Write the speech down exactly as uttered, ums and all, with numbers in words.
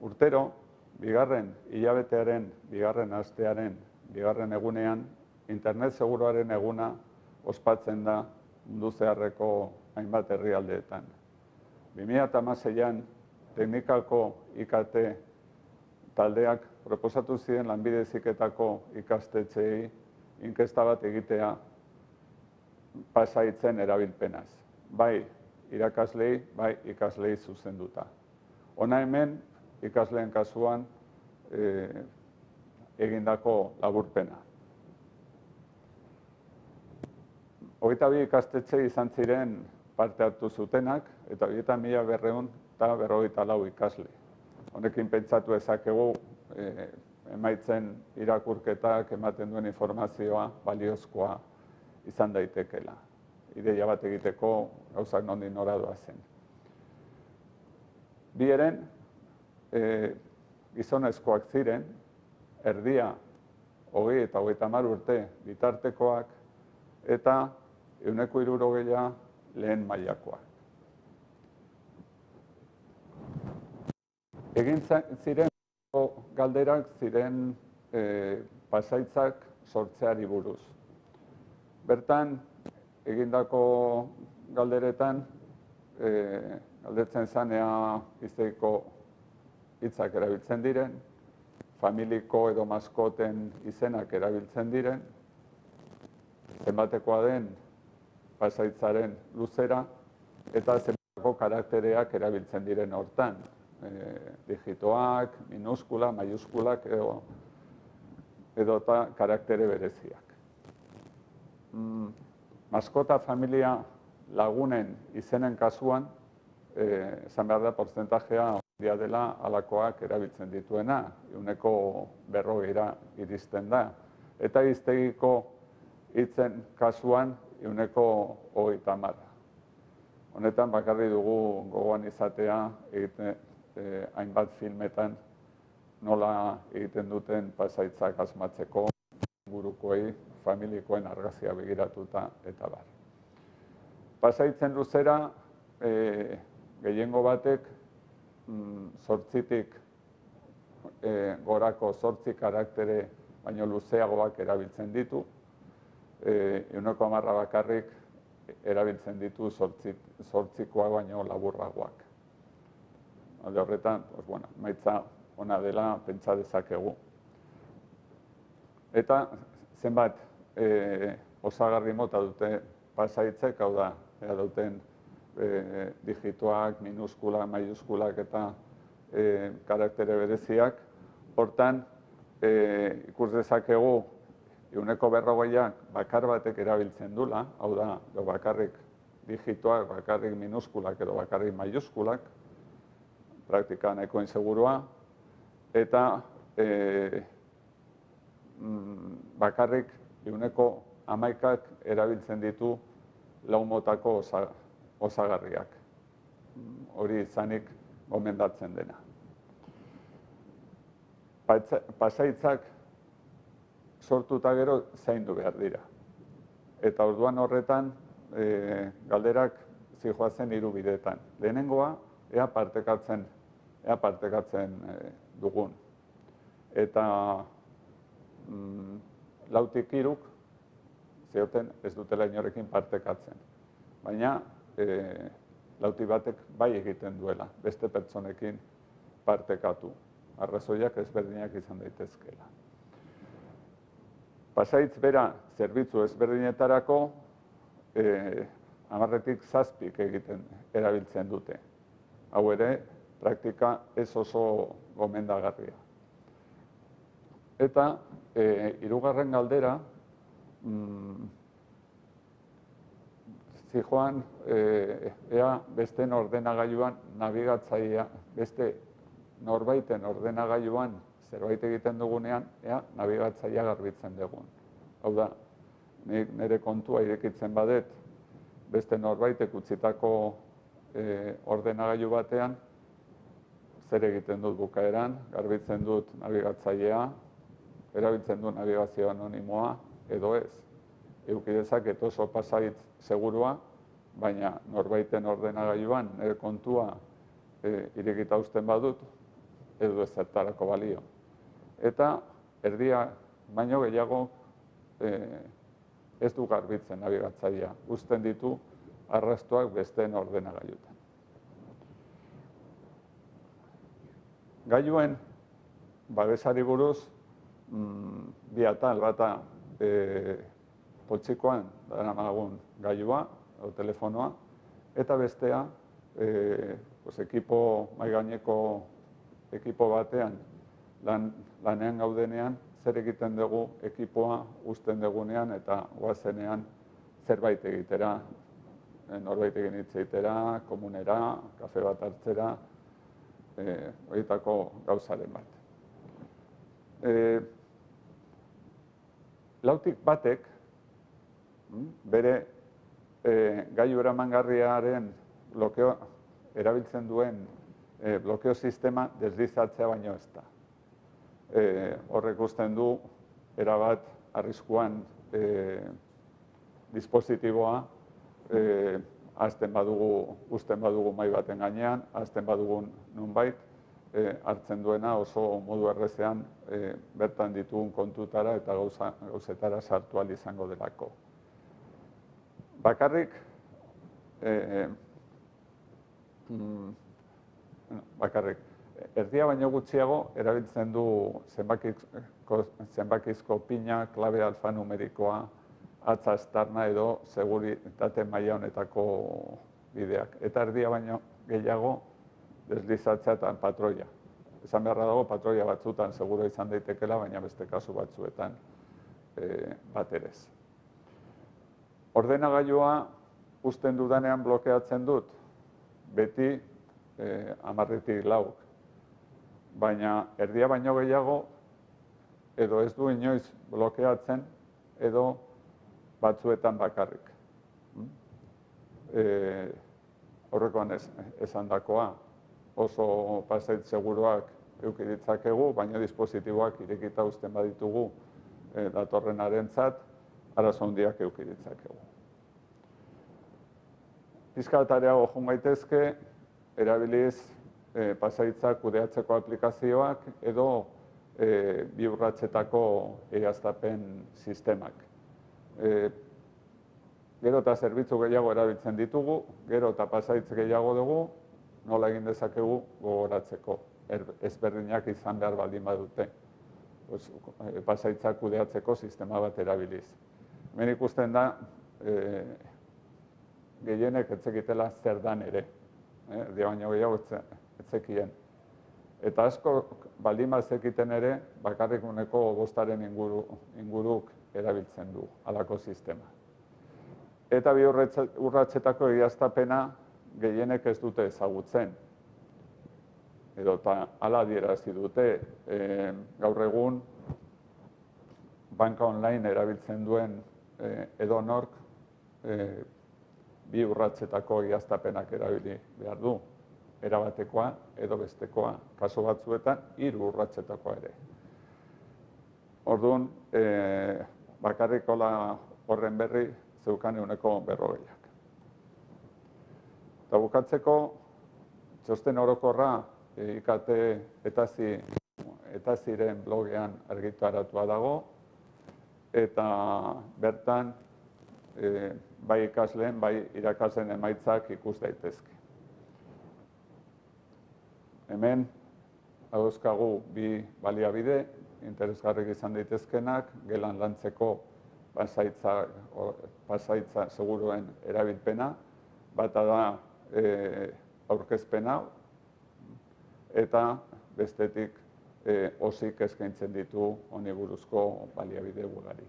Urtero, bigarren hilabetearen, bigarren astearen, bigarren egunean, internet seguruaren eguna ospatzen da mundu zeharreko hainbat herrialdeetan. bi mila hamaseian teknikako I K T taldeak proposatu ziren lanbide heziketako ikastetxeei inkesta bat egitea pasaitzen erabilpenaz. Bai irakaslei, bai ikaslei zuzenduta. Hona hemen ikasleen kasuan e, egindako laburpena. Hogeita bi ikastetxe izan ziren parte hartu zutenak, eta hogeita mila berrehun eta berrogeita lau ikasle. Honekin pentsatu ezakegu e, emaitzen irakurketak ematen duen informazioa baliozkoa izan daitekela. Ideia bat egiteko gauzak nondik nora doazen. Bi eren, e, gizonezkoak ziren, erdia hogei eta hogeita hamar urte bitartekoak, eta ehuneko hirurogeia lehen mailakoak. Egin ziren galderak ziren e, pasaitzak sortzeari buruz. Bertan, egindako galderetan, e, galdetzen zanea izteiko hitzak erabiltzen diren, familiko edo maskoten izenak erabiltzen diren, zenbatekoa den pasaitzaren luzera, eta zenbateko karaktereak erabiltzen diren hortan. E, digitoak, minuskula, maiuskulak edo edota karaktere bereziak. Mm, maskota familia lagunen izenen kasuan, eh, esan behar da porzentajea handia dela alakoak erabiltzen dituena, ehuneko berrogeira iristen da. Eta hiztegiko hitzen kasuan ehuneko hogeita hamar. Honetan bakarri dugu gogoan izatea egiten eh, hainbat filmetan nola egiten duten pasaitzak asmatzeko burukoei, familikoen argazia begiratuta eta bar. Pasaitzen luzera, e, gehiengo batek zortzitik e, gorako zortzi karaktere baino luzeagoak erabiltzen ditu, ehuneko hamarra bakarrik erabiltzen ditu zortzikoa baino laburragoak. Alde horretan, pues, bueno, maitza ona dela pentsa dezakegu. Eta zenbat e, osagarri mota dute pasaitzek, hau da, ea duten e, digitoak, minuskulak, maiuskulak eta e, karaktere bereziak. Hortan, e, ikus dezakegu ehuneko berrogeiak bakar batek erabiltzen dula, hau da, bakarrik digitoak, bakarrik minuskulak edo bakarrik maiuskulak, praktika nahiko insegurua, eta e, bakarrik ehuneko hamaikak erabiltzen ditu lau motako osa, osagarriak. Hori izanik gomendatzen dena. Pasaitzak sortuta gero zaindu behar dira. Eta orduan horretan e, galderak zijoazen hiru bidetan. Lehenengoa, ea partekatzen, ea partekatzen e, dugun. Eta mm, lautik hiruk zioten ez dutela inorekin partekatzen. Baina e, lauti batek bai egiten duela, beste pertsonekin partekatu. Arrazoiak ezberdinak izan daitezkeela. Pasaitz bera zerbitzu ezberdinetarako e, hamarretik zazpik egiten erabiltzen dute. Hau ere, praktika ez oso gomendagarria. Eta e, hirugarren galdera, mm, zijoan, e, ea beste ordenagailuan nabigatzailea, beste norbaiten ordenagailuan zerbait egiten dugunean, ea nabigatzailea garbitzen dugun. Hau da, nik nire kontua irekitzen badet, beste norbaitek utzitako e, ordenagailu batean, zer egiten dut bukaeran, garbitzen dut nabigatzailea, erabiltzen du nabigazio anonimoa, edo ez. Eduki dezaket oso pasaitz segurua, baina norbaiten ordenagailuan nire kontua e, irekita uzten badut, edo ezertarako balio. Eta erdia baino gehiago ez du garbitzen nabigatzailea, uzten ditu arrastoak besteen ordenagailutan. Gailuen babesari buruz, bi atal bata poltsikoan daramagun gailua, o telefonoa, eta bestea, ekipo, maigaineko ekipo batean lanean gaudenean, zer egiten dugu ekipoa uzten dugunean eta goazenean zerbait egitera, norbait egin hitz egitera, komunera, kafe bat hartzera, horietako gauzaren bat. Lautik batek, bere gailu eramangarriaren blokeo, erabiltzen duen blokeo sistema deslizatzea baino ez da. Horrek usten du, erabat arriskuan dispositiboa azten badugu, uzten badugu mai baten gainean, azten badugun nonbait, hartzen duena oso modu errezean bertan ditugun kontutara eta gauzetara sartu ahal izango delako. Bakarrik, bakarrik, erdia baino gutxiago erabiltzen du zenbakizko pina, klabe alfanumerikoa, atza estarna edo seguritate maila honetako bideak. Eta erdia baino gehiago deslizatzea eta patroia. Esan beharra dago, patroia batzutan seguro izan daitekela, baina beste kasu batzuetan bat ere ez. Ordenagailua uzten dudanean blokeatzen dut, beti hamarretik lauk. Baina erdia baino gehiago, edo ez du inoiz blokeatzen, edo batzuetan bakarrik. Horrekoan esan dakoa, oso pasait seguruak eduki ditzakegu, baina dispositiboak irekita uzten baditugu datorrenarentzat, arazo handiak eduki ditzakegu. Pixka bat areago joan gaitezke, erabiliz pasaitzak kudeatzeko aplikazioak edo bi urratsetako egiaztapen sistemak. Gero eta zerbitzu gehiago erabiltzen ditugu, gero eta pasaitz gehiago dugu, nola egin dezakegu gogoratzeko, ezberdinak izan behar baldin badute, pasaitzak kudeatzeko sistema bat erabiliz. Hemen ikusten da, gehienek etzekitela zer dan ere, erdia baino gehiago etzekien. Eta asko baldin bazekiten ere, bakarrik uneko bostaren inguruk erabiltzen du, halako sistema. Eta bi urratsetako egiaztapena gehienek ez dute ezagutzen. Edo eta hala adierazi dute, gaur egun banka online erabiltzen duen edonork bi urratsetako egiaztapenak erabili behar du. Erabatekoa edo bestekoa, kasu batzuetan hiru urratsetakoa ere. Orduan, bakarrik horren berri zeukan ehuneko berrogeiak. Eta bukatzeko, txosten orokorra I K T eta ziren blogean argitaratua dago, eta bertan bai ikasleen, bai irakasleen emaitzak ikus daitezke. Hemen, dauzkagu bi baliabide, interesgarrik izan daitezkenak, gelan lantzeko pasaitza seguruen erabilpena, bata da aurkezpena, eta bestetik osik eskaintzen ditu honi buruzko baliabide ugari.